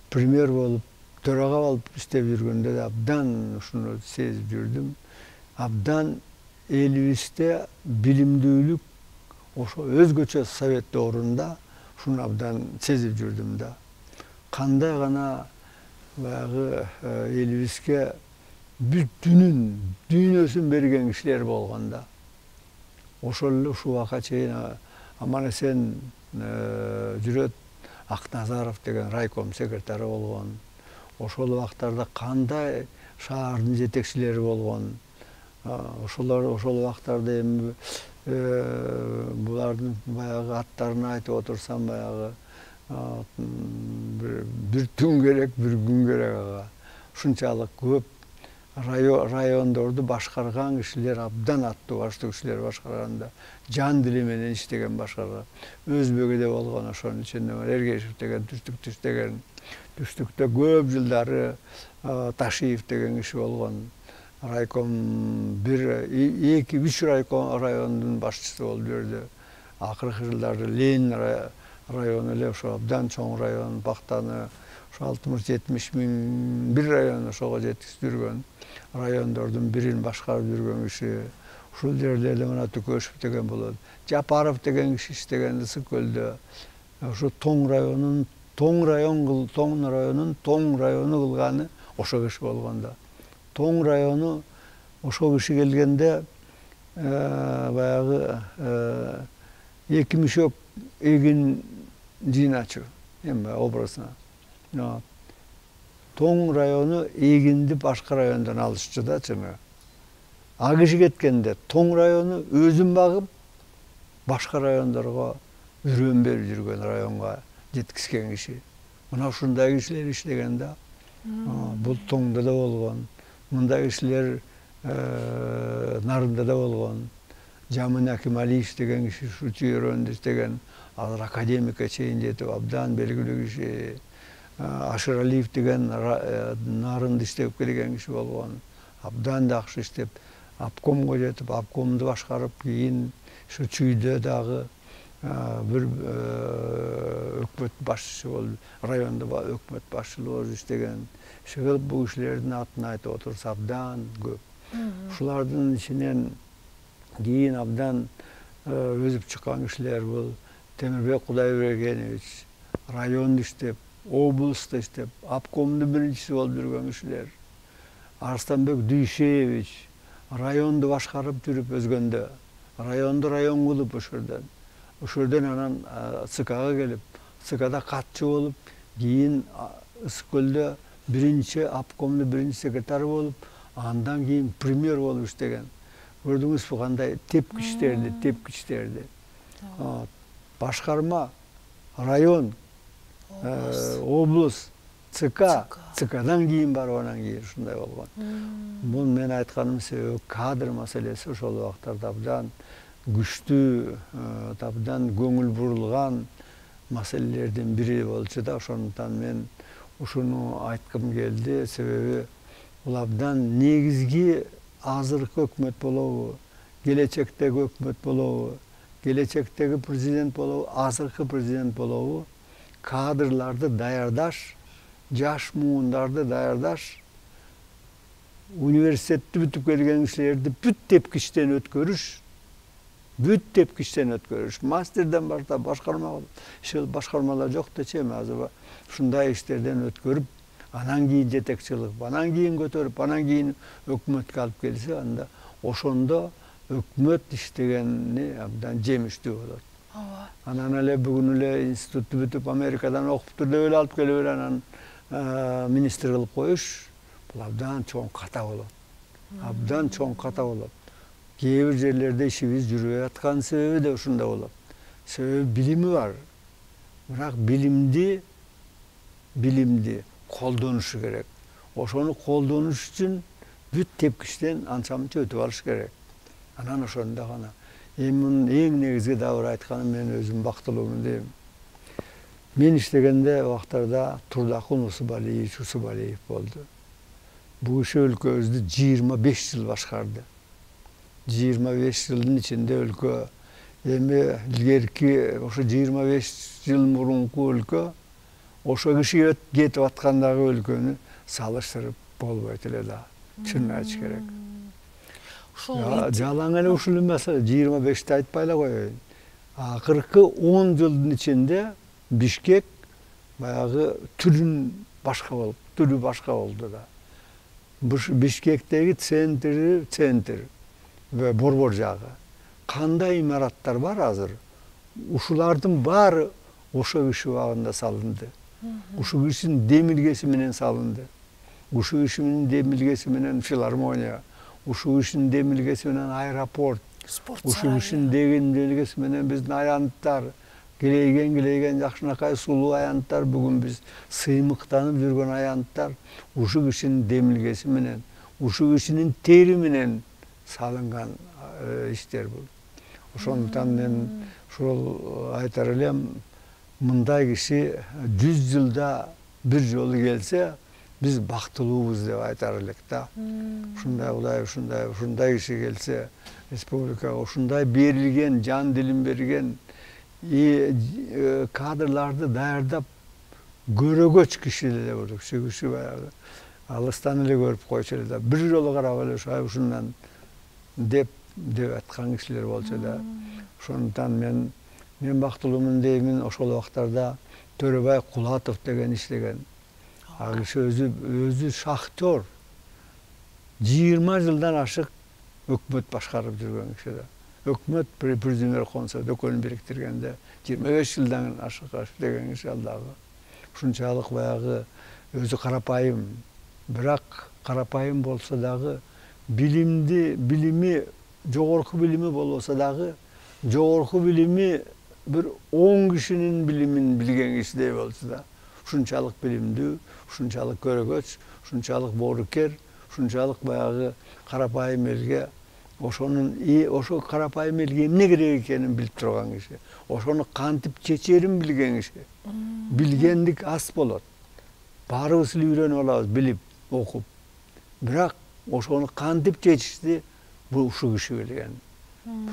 премьер болуп, төрага болуп иштеп жүргөндө да абдан ушуну сезип жүрдүм. Абдан элибизде билимдүүлүк ошо өзгөчө совет орунда ушуну абдан сезип жүрдүм да. Кандай гана баягы элибизге бүтүнүн дүйнөсүн берген кишилер болгондо, ошол эле ушул убакка чейин аман-эсен жүрөт Акназаров деген райком секретары болгон. Ошол убактарда кандай шаардын жетекчилери болгон. Ошол убактарда эми булардын баягы аттарын айтып отурсам, баягы бир түн керек, бир күн керек ага. Ушунчалык көп райондорду башкарган кишилер, абдан аттуу баштуу кишилер башкарганда, жан дили менен иштеген башкарган. Өзбөгүдө болгон, ошонун ичинде Эргешев деген, Түштүктү деген, Түштүктө көп жылдары Ташиев деген киши болгон. Райком 2-3 райондун башчысы болуп жүрдү. Акыркы жылдары Ленин району эле ошо абдан чоң район, Бактаны ошо 60-70 миң бир район ошого жеткизип жүргөн. Райондордун бирин башкарып жүргөн киши. Ушул жерлерде мына Түкөшев деген болот. Жапаров деген киши иштеген Ысык-Көлдө. Ошо тоң району кылганы ошо киши болгондо. Тоң району ошол киши келгенде баягы 2 мешок эгин жыйначу, эми образно. Тоң району эгинди башка райондон алышчу да чыны. А киши кеткенде Тоң району өзүн багып, башка райондорго үрөн берип жүргөн, районго жеткизген киши. Мына ушундай кишилер иштеген да. Бул Тоңдо да болгон. Мындай кишилер Нарында да болгон. Жамын Акималиев деген киши ушу чүйөрөндө иштеген, азыр академикке чейин жетип абдан белгилүү киши. Ашыралиев деген Нарында иштеп келген киши болгон. Абдан жакшы иштеп, обкомго жетип, обкомду башкарып, кийин ушу чүйдө дагы бир өкмөт башчысы болуп, райондо өкмөт башчылыгы болуп иштеген. Ушул бул кишилердин атын айтып отурса абдан көп. Ушулардын ичинен кийин абдан өзүп чыккан кишилер бул Темирбек Кудайбергенович, райондо иштеп, облустта иштеп, обкомдун биринчиси болуп жүргөн кишилер. Арстанбек Дүйшеевич районду башкарып жүрүп өзгөндө, районду район кылып ошордон анан ЦКга келип, ЦКда катчы болуп, кийин Ысык-Көлдө биринчи обкомдун биринчи секретары болуп, андан кийин премьер болуп иштеген. Көрдүңүзбү кандай тепкичтерди. Башкарма, район, облус, ЦКдан кийин барып анан кийин ушундай болгон. Бул мен айтканым себеби кадр маселеси ошол убактарда абдан күчтүү, абдан көңүл бурулган маселелердин бири болчу да. Ошондуктан мен ушуну айткым келди, себеби бул абдан негизги азыркы өкмөт болобу, келечектеги өкмөт болобу, келечектеги президент болобу, азыркы президент болобу, кадрларды даярдаш, жаш муундарды даярдаш, университетти бүтүп келген кишилерди бүт тепкичтен өткөрүш, мастерден баштап башкармалар жок дечи, эми азыр ушундай иштерден өткөрүп, анан кийин жетекчилик, анан кийин көтөрүп, анан кийин өкмөткө алып келсе, анда ошондо өкмөт иштегени абдан жемиштүү болот. Ооба. Анан эле бүгүн эле институтты бүтүп Америкадан окуптур деп эле алып келип эле анан министр кылып коюш, бул абдан чоң ката болот. Абдан чоң ката болот. Кээ бир жерлерде ишибиз жүрбөй аткан себеби да ушунда болот. Себеби билими бар. Бирок билимди колдонушу керек. Ошону колдонуш үчүн бүт тепкичтен анча мынча өтүп алыш керек. Анан ошондо гана. Эми эң негизги дагы бир айтканым, мен өзүм бактылуумун дейм. Мен иштегенде убактарда Турдакун Усубалиев болду. Бул киши өлкөбүздү 25 жыл башкарды. 25 жылдын ичинде өлкө, эми илгерки ошо 25 жыл мурунку өлкө, ошо киши кетип аткандагы өлкөнү салыштырып болбойт эле да. Чынын айтыш керек. Жалаң эле ушул эмес, 25-ти айтпай эле коеюн. Акыркы 10 жылдын ичинде Бишкек баягы түрү башка болду да. Бишкектеги центр ve Борбор жагы. Кандай имараттар бар азыр? Ушулардын баары ошо киши убагында салынды. Ушул кишинин демилгеси менен салынды. Ушул кишинин демилгеси менен филармония, ушул кишинин демилгеси менен аэропорт, ушул кишинин демилгеси менен биздин аянттар, килейген жакшынакай сулуу аянттар, бүгүн биз сыймыктанып жүргөн аянттар ушул кишинин демилгеси менен, ушул кишинин тери менен салынган иштер бул. Ошондуктан мен ушул айтар элем, мындай киши 100 жылда бир жолу келсе, биз бактылуубуз деп айтар элек да. Ушундай киши келсе, республикага ушундай берилген, жан дилин берген кадрларды даярдап көрөгөч киши эле болуп, ушул киши баягы алыстан эле көрүп койчу эле да, бир жолу карап эле ушундан деп аткан кишилер болчу да. Ошондуктан мен бактылуумун деймин. Ошол убактарда Төрөбай Кулатов деген иштеген. Ал киши өзү шахтер. 20 жылдан ашык өкмөт башкарып жүргөн киши да. Өкмөт Президент Консо дөкөнүн бириктиргенде 25 жылдан ашык иштеген киши ал дагы. Ушунчалык баягы өзү карапайым, бирок карапайым болсо дагы билими жогорку билими болбосо дагы жогорку билими бир 10 кишинин билимин билген кишидей болчу да. Ушунчалык билимдүү, ушунчалык көрөгөч, ушунчалык боорукер, ушунчалык баягы карапайым элге ошо карапайым элге эмне керек экенин билип турган киши. Ошону кантип чечерин билген киши. Билгендик аз болот. Баарыбыз эле үйрөнүп алабыз, билип, окуп. Бирок ошону кантип чечишти бул ушул киши билген.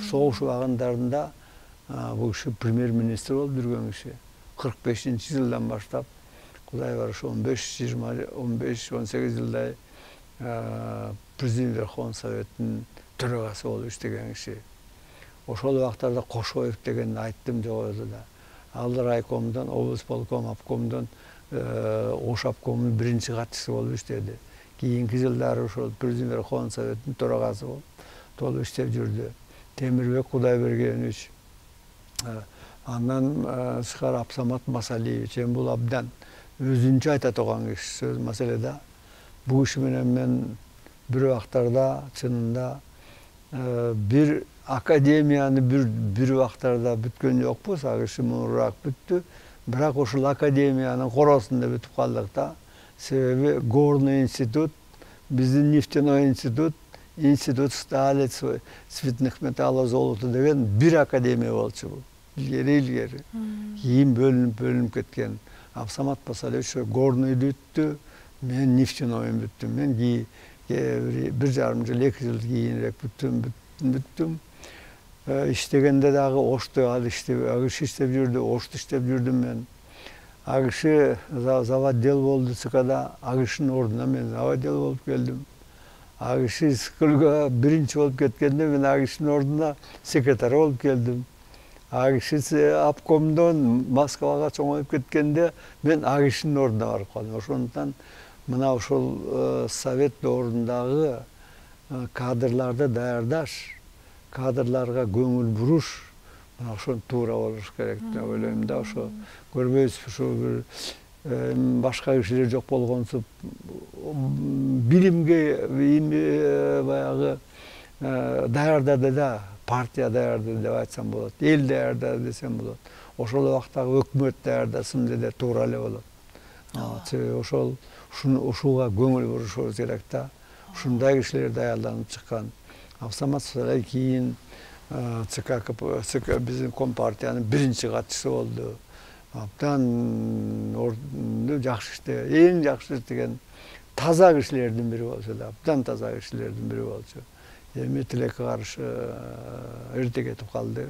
Согуш убагындарында бул киши премьер-министр болуп жүргөн киши. 45-жылдан баштап, Кудай барышы 15-18 жылдай Президент Верховный Советтин төрагасы болуп иштеген киши. Ошол убактарда Кошоев дегенди айттым жогоруда да. Ал райкомдон, облус полком, обкомдон, Ош обкомунун биринчи катчысы болуп иштеди. Кийинки жылдары ошол Президент Верховный Советтин төрагасы болуп иштеп жүрдү. Темирбек Кудайбергенович, андан тышкары Абсамат Масалиевич, бул абдан өзүнчө айта турган киши сөз маселеде. Бул киши менен мен бир убактарда чынында бир академияны бир убактарда бүткөн жокпуз, ал киши муруураак бүттү. Бирок ушул академиянын коросунда бүтүп калдык да. Себеби Горный институт, биздин нефтяной институт стали цветных металлов золота деген бир академия болчу бул. Илгери. Кийин бөлүнүп кеткен. Абсамат Масалиевич Горныйды бүттү, мен нефтянойун бүттүм. Мен 1,5 жыл, 2 жыл кийинирээк бүттүм. Иштегенде дагы Ошто ал киши иштеп жүрдү, Ошто иштеп жүрдүм мен. Ал киши заводдел болду ЦКда, ал кишинин ордуна мен заводдел болуп келдим. Ал киши СКЛга биринчи болуп кеткенде мен ал кишинин ордуна секретарь болуп келдим. Ал киши обкомдон Москвага чоңоюп кеткенде мен ал кишинин ордуна барып калдым. Ошондуктан мына ушул совет доорундагы кадрларды даярдаш, кадрларга көңүл буруш, мына ошо туура болуш керек деп ойлойм да. Ошо көрбөйсүз, ушу бир башка кишилер жок болгонсуп билимге баягы даярдады да, партия даярдады деп айтсам болот, эл даярдады десем болот. Ошол убактагы өкмөт даярдасын деде туура эле болот. Ошол ушуга көңүл бурушубуз керек да. Ушундай кишилер даярданып чыккан. Самат кийин ЦК биздин Компартиянын биринчи катчысы болду. Абдан жакшы иштеген, эң жакшы иштеген таза кишилердин бири болчу да, абдан таза кишилердин бири болчу. Эми тилекке каршы эрте кетип калды.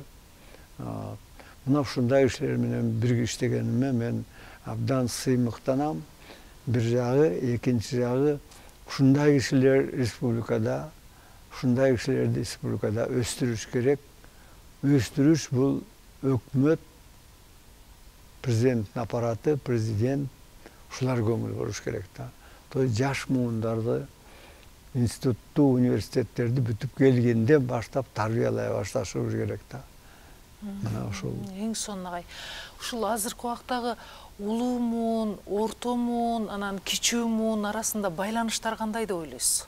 Мына ушундай кишилер менен бирге иштегениме мен абдан сыймыктанам. Бир жагы, экинчи жагы ушундай кишилер республикада, ушундай кишилерди республикада өстүрүш керек. Өстүрүш бул өкмөт, президенттин аппараты, президент ушулар көңүл буруш керек да. Жаш муундарды институтту, университеттерди бүтүп келгенден баштап тарбиялай башташыбыз керек да. Мына ушул. Эң сонун агай. Ушул азыркы убактагы улуу муун, орто муун, анан кичүү муун арасында байланыштар кандай деп ойлойсуз?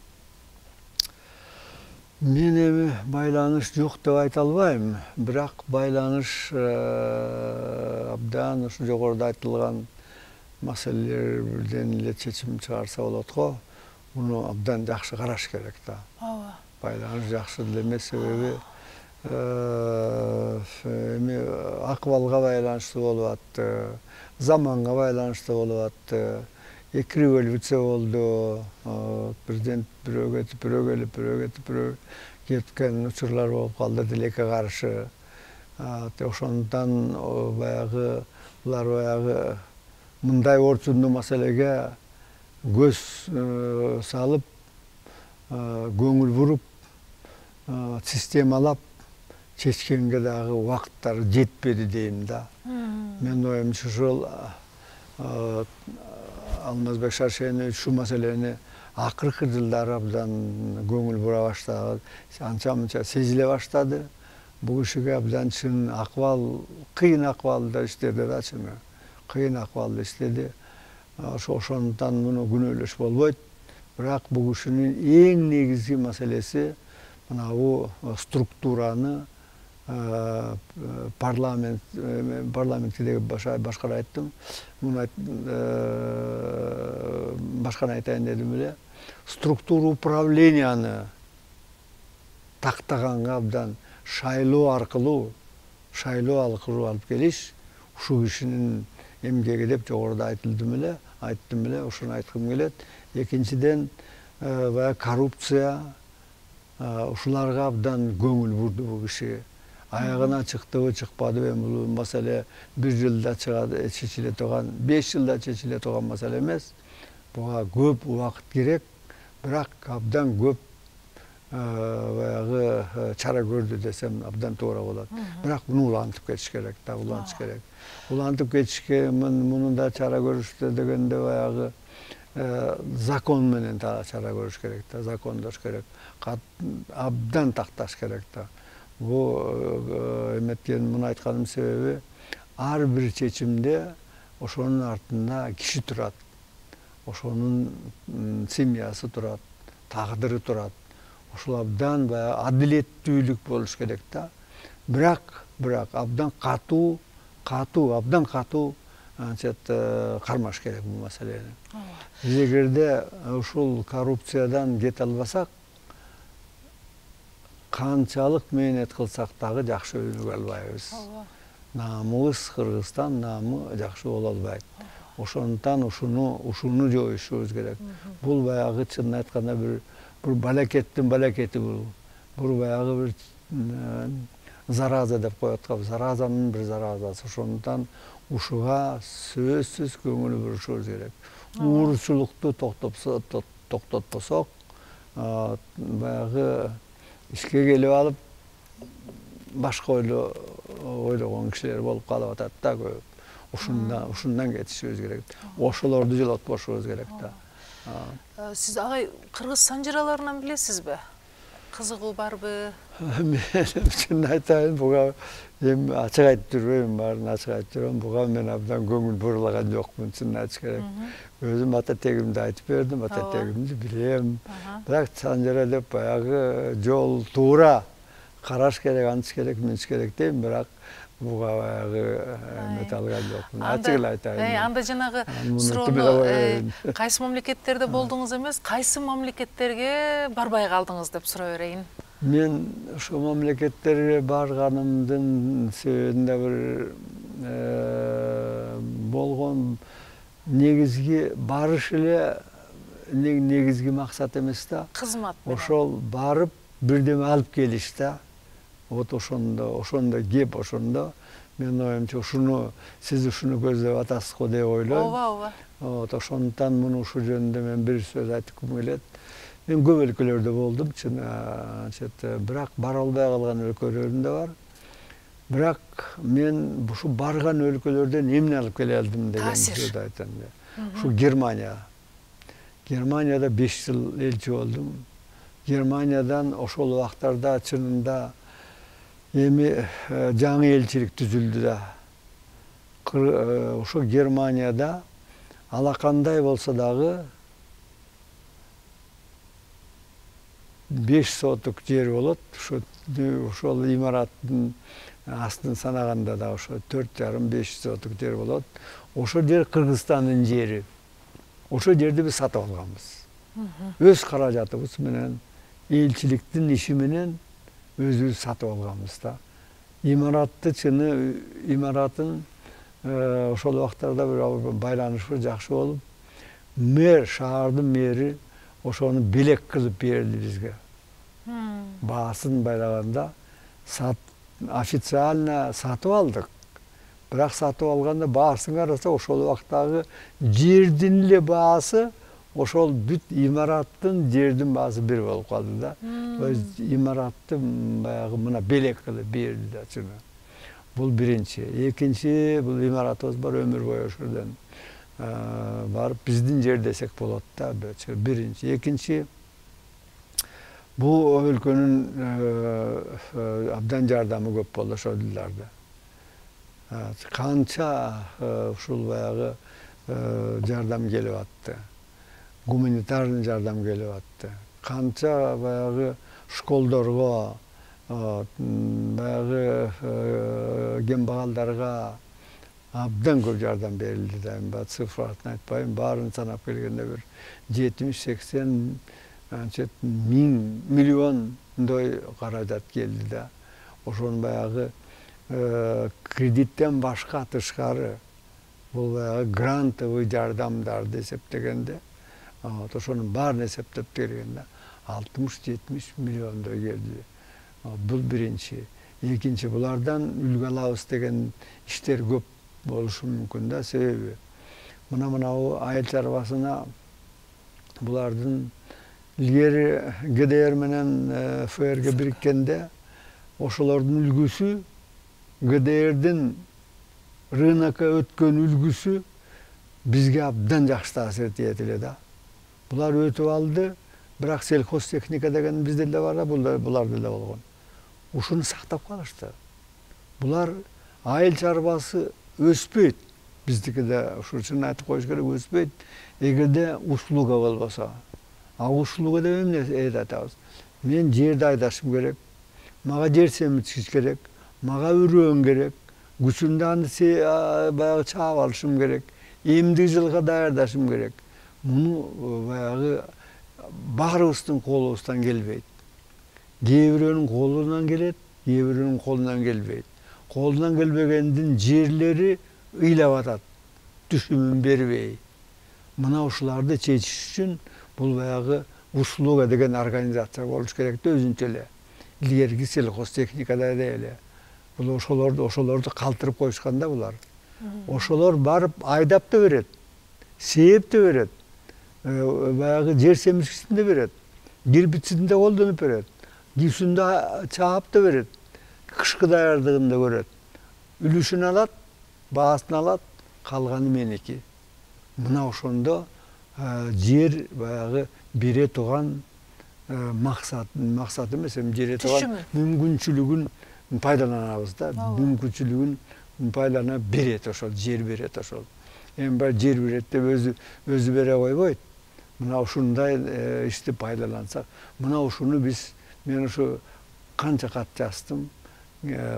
Мен эми байланыш жок деп айта албайм, бирок байланыш абдан ушу жогоруда айтылган маселелерден эле чечим чыгарса болот го. Муну абдан жакшы караш керек да. Ооба. Байланыш жакшы деле эмес, себеби эми акыбалга байланыштуу болуп атты, заманга байланыштуу болуп атты. Эки революция болду. Президент бирөө кетип, бирөө келип, бирөө кетип, бирөө кеткен учурлар болуп калды тилекке каршы. Ошондон баягы булар баягы мындай орчундуу маселеге көз салып, көңүл буруп, системалап чечкенге дагы убакыттары жетпеди дейм да. Мен оюмча ушул Алмазбек Шаршенович ушул маселени акыркы жылдары абдан көңүл бура баштады, анча-мынча сезиле баштады. Бул кишиге абдан чын акыбал, кыйын акыбалда иштеди да, чын кыйын акыбалда иштеди. Ошондон муну күнөөлөш болбойт. Бирок бул кишинин эң негизги маселеси мына бул структураны парламентте башкара айттым. Муну башканы айтайын дедим эле. Структура управленияны тактаганга абдан шайлоо аркылуу алып келиш ушул кишинин эмгеги деп жогоруда айттым эле, ошону айткым келет. Экинчиден, баягы коррупция, ушуларга абдан көңүл бурду бул киши. Аягына чыктыбы, чыкпадыбы, бул маселе бир жылда чечиле турган, 5 жылда чечиле турган маселе эмес. Буга көп убакыт керек, бирок абдан көп баягы чара көрдү десем абдан туура болот. Бирок муну улантып кетиш керек да, улантыш керек. Улантып кетишке муну да чара көрүштү дегенде баягы закон менен чара көрүш керек да, закондош керек. Абдан такташ керек да. Бул эметкен муну айтканымдын себеби ар бир чечимде ошонун артында киши турат. Ошонун семьясы турат, тагдыры турат. Ошол абдан баягы адилеттүүлүк болуш керек да. Бирок абдан катуу кармаш керек бул маселени. Биз эгерде ушул коррупциядан кете албасак, канчалык мээнет кылсак дагы жакшы өнүгө албайбыз. Наамыбыз, Кыргызстан наамы жакшы боло албайт. Ошондон ушуну жоюшубуз керек. Бул баягы чынын айтканда бир балакеттин балакети бул. Бул баягы бир зараза деп коет го, заразанын бир заразасы. Ошондон ушуга сөзсүз көңүл бурушубуз керек. Уурчулукту токтотпосок, баягы ишке келип алып башка ойлогон кишилер болуп калып атат да көп. Ушундан кетишибиз керек. Ошолорду жолотпошубуз керек да. Сиз агай кыргыз санжыраларынан билесизби? Кызыгуу барбы? Мен чын айтайын, буга эми ачык айтып жүрбөйм, баарын ачык айтып жүрөм. Буга мен абдан көңүл бурулаган жокмун, чын айтыш керек. Өзүм ата тегимди айтып бердим, ата тегимди билем. Бирок санжыра деп баягы жол туура караш керек, антыш керек, минтиш керек дейм, бирок буга баягы эмете алган жокмун. Ачык эле айтайын. Анда жанагы суроону кайсы мамлекеттерде болдуңуз эмес, кайсы мамлекеттерге барбай калдыңыз деп сурай берейин. Мен ошо мамлекеттерге барганымдын себебинде бир болгон негизги барыш эле негизги максат эмес да. Кызмат. Ошол барып бирдеме алып келиш да. Вот ошондо кеп ошондо мен оюмча сиз ушуну көздөп атасыз го деп ойлойм. Ооба. Вот ошондуктан муну ушул жөнүндө мен бир сөз айткым келет. Мен көп өлкөлөрдө болдум, чын бирок бара албай калган өлкөлөрүм да бар. Бирок мен ушу барган өлкөлөрдөн эмне алып келе алдым деген сөздү айтам. Ушу Германияда 5 жыл элчи болдум. Германиядан ошол убактарда чынында эми жаңы элчилик түзүлдү да. Ошо Германияда алакандай болсо дагы 5 соток жер болот. Ошол имараттын астын санаганда да ошо 4,5-5 соток жер болот. Ошол жер Кыргызстандын жери. Ошол жерди биз сатып алганбыз. Өз каражатыбыз менен, элчиликтин иши менен өзүбүз сатып алганбыз да. Имаратын ошол убактарда бир байланышыбыз жакшы болуп, шаардын мэри ошону белек кылып берди бизге. Баасын байлаганда официально сатып алдык. Бирок сатып алганда баасын караса ошол убактагы жердин эле баасы ошол бүт имараттын жердин баасы бир болуп калды да. Имаратты баягы мына белек кылып берди да чыны. Бул биринчи. Экинчи, бул имаратыбыз бар өмүр бою ошодон барып биздин жер десек болот да. Биринчи. Экинчи, бул өлкөнүн абдан жардамы көп болду ошол жылдарда. Канча ушул баягы жардам келип атты. Гуманитарный жардам келип атты. Канча баягы школдорго, баягы кембагалдарга абдан көп жардам берилди да. Эми цифратын айтпайм, баарын санап келгенде бир 70-80 миллиондой каражат келди да. Ошону баягы кредиттен башка тышкары бул баягы грантовый жардамдарды эсептегенде, ошонун баарын эсептеп бергенде 60-70 миллиондой келди. Бул биринчи. Экинчи, булардан үлгү алабыз деген иштер көп болушу мүмкүн да, себеби мына айыл чарбасына булардын илгери ГДР менен ФРГ бириккенде ошолордун үлгүсү, ГДРдин рынокко өткөн үлгүсү бизге абдан жакшы таасир этет эле да. Булар өтүп алды, бирок сельхозтехника деген бизде деле бар да, буларда деле болгон. Ушуну сактап калышты. Булар айыл чарбасы өспөйт. Биздикиде ушу чын айтып коюш керек, өспөйт. Эгерде услуга болбосо. Услуга деп эмне айтабыз? Мен жерди айдашым керек. Мага жер семиртиш керек. Мага үрөөн керек. Күчүмдү аны баягы чаап алышым керек. Эмдик жылга даярдашым керек. Муну баягы баарыбыздын колубуздан келбейт. Кээ бирөөнүн колунан келет, кээ бирөөнүн колунан келбейт. Колунан келбегендин жерлери ыйлап атат, түшүмүн бербей. Мына ушуларды чечиш үчүн бул баягы услуга деген организация болуш керек да, өзүнчө эле. Илгерки сельхозтехникада эле. Бул ошолорду калтырып коюшкан да булар. Ошолор барып айдап да берет, сээп да берет. Баягы жер семирткичин да берет, кирпичин да колдонуп берет, кийүүсүн да чаап да берет, кышкы даярдыгын да көрөт. Үлүшүн алат, баасын алат, калганы меники. Мына ошондо жер баягы бере турган максат эмес, бере турган мүмкүнчүлүгүн пайдаланабыз да, мүмкүнчүлүгүн байлана берет, ошол жер берет, ошол. Эми бар жер берет деп өзү бере койбойт. Мына ушундай ишти пайдалансак, мына ушуну мен ушу канча кат жаздым,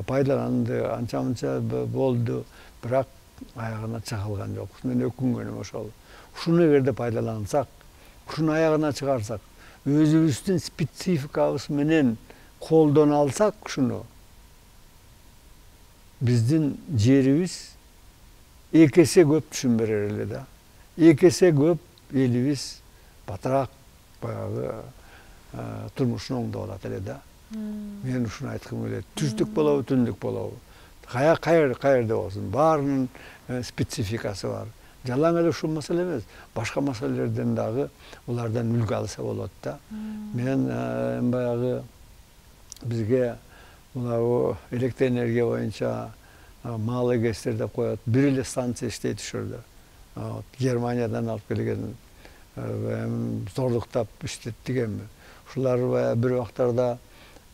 пайдаланды, анча-мынча болду, бирок аягына чыгылган жок. Мен өкүнгөнүм ошол. Ушуну эгерде пайдалансак, ушуну аягына чыгарсак, өзүбүздүн спецификабыз менен колдоно алсак ушуну, биздин жерибиз эки эсе көп түшүм берер эле да. Эки эсе көп элибиз батыраак баягы турмушун оңдоп алат эле да. Мен ушуну айткым келет. Түздүк болобу, түндүк болобу, каерде болсун, баарынын спецификасы бар. Жалаң эле ушул маселе эмес, башка маселелерден дагы улардан үлгү алса болот да. Мен баягы бизге мына электр энергия боюнча малый ГЭСтер деп коет, бир эле станция иштейт ушул жерде. Германиядан алып келген, зордуктап иштеттик эми. Ушулар бир убактарда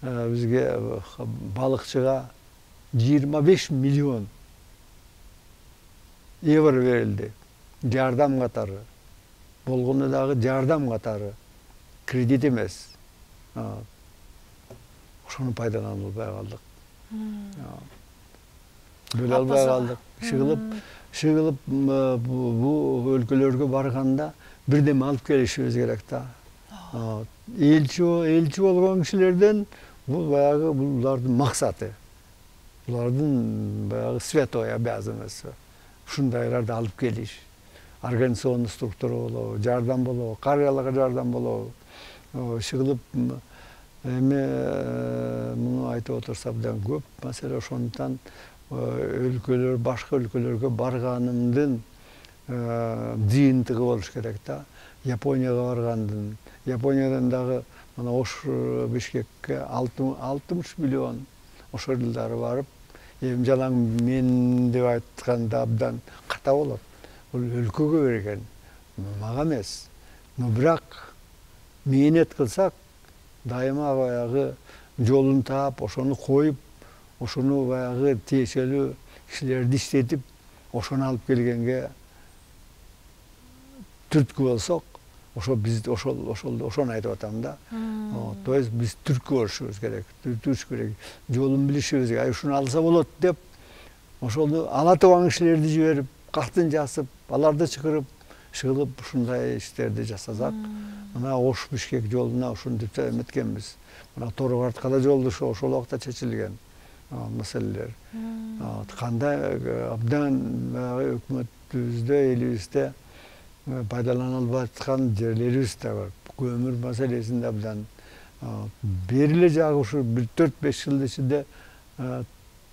бизге балыкчыга 25 миллион евро берилди. Жардам катары. Болгондо дагы жардам катары. Кредит эмес. Ошону пайдалана албай калдык. Бөлө албай калдык. Шыгылып бул өлкөлөргө барганда бирдеме алып келишибиз керек да. Элчи болгон кишилерден бул баягы булардын максаты. Булардын баягы святой обязанности. Ушундайларды алып келиш. Организационный структура болобу, жардам болобу, карыяларга жардам болобу. Шыгылып эми муну айтып отурсак абдан көп маселе. Ошондуктан өлкөлөр, башка өлкөлөргө барганымдын жыйынтыгы болуш керек да. Японияга баргандын, Япониядан дагы мына Ош Бишкекке 60 миллион ошол жылдары барып, эми жалаң мен деп айтканда абдан ката болот. Бул өлкөгө берген, мага эмес. Но бирок мээнет кылсак, дайыма баягы жолун таап, ошону коюп, ошону баягы тиешелүү кишилерди иштетип, ошону алып келгенге түрткү болсок, ошону айтып атам да. То есть биз түрткү болушубуз керек, жолун билишибиз керек. Ушуну алса болот деп, ошону ала турган кишилерди жиберип, катын жасып, аларды чакырып, шыгылып ушундай иштерди жасасак, мына Ош Бишкек жолуна ушинтип эметкенбиз. Мына Торгартка да жолду ошол убакта чечилген маселелер. Кандай абдан өкмөтүбүздө, элибизде пайдалана албай аткан жерлерибиз да бар. Көмүр маселесинде абдан бериле жагы ушу 4-5 жылдын ичинде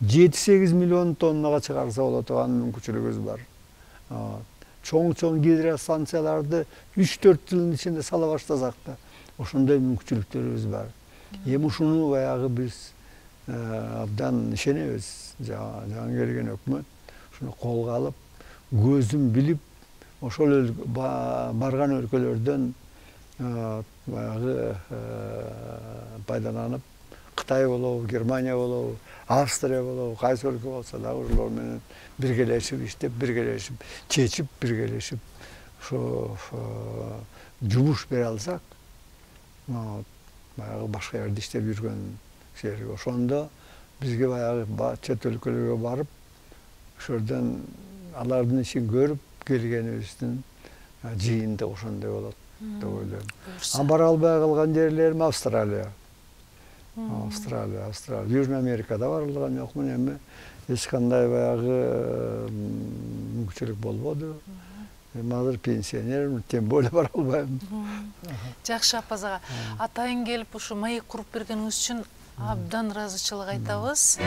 7-8 миллион тоннага чыгарса болот турган мүмкүнчүлүгүбүз бар. Чоң гидростанцияларды 3-4 жылдын ичинде сала баштасак да, ошондой мүмкүнчүлүктөрүбүз бар. Эми ушуну баягы биз абдан ишенебиз. Жаңы келген өкмөт ушуну колго алып, көзүн билип, ошол барган өлкөлөрдөн баягы пайдаланып, Кытай болобу, Германия болобу, Австрия болобу, кайсы өлкө болсо дагы ошолор менен биргелешип иштеп, биргелешип чечип, биргелешип ошо жумуш бере алсак, баягы башка жерде иштеп жүргөн кишилерге, ошондо бизге баягы чет өлкөлөргө барып, ошолордон алардын ишин көрүп келгенибиздин жыйынтыгы ошондой болот деп ойлойм. Бара албай калган жерлерим Австралия. Южный Америкада барылган жокмун, эми эч кандай баягы мүмкүнчүлүк болбоду. Эми азыр пенсионермин, тем более бара албайм. Жакшы Аппаз ага, атайын келип ушу маек куруп бергениңиз үчүн абдан ыраазычылык айтабыз.